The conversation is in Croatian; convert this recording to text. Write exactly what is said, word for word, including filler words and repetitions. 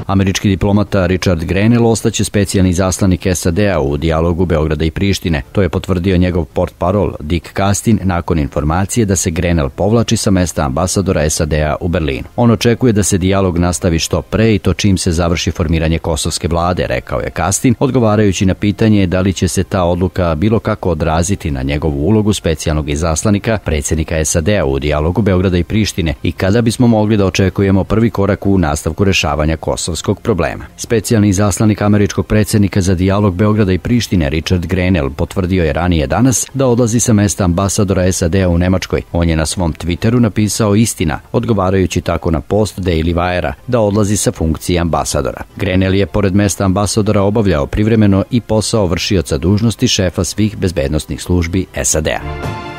Američki diplomata Richard Grenell ostaće specijalni izaslanik S A D-a u dijalogu Beograda i Prištine. To je potvrdio njegov portparol Dick Castin nakon informacije da se Grenell povlači sa mesta ambasadora S A D-a u Berlinu. On očekuje da se dijalog nastavi što pre i to čim se završi formiranje kosovske vlade, rekao je Castin, odgovarajući na pitanje da li će se ta odluka bilo kako odraziti na njegovu ulogu specijalnog izaslanika predsjednika S A D-a u dijalogu Beograda i Prištine i kada bismo mogli da očekujemo prvi korak u nastavku rešavanja kosovskog problema. Specijalni izaslanik američkog predsjednika za dijalog Beograda i Prištine Richard Grenell potvrdio je ranije danas da odlazi sa mesta ambasadora S A D-a u Nemačkoj. On je na svom Twitteru napisao istina, odgovarajući tako na post Daily Wire-a da odlazi sa funkcije ambasadora. Grenell je pored mesta ambasadora obavljao privremeno i posao vršioca dužnosti šefa svih bezbednosnih službi S A D-a.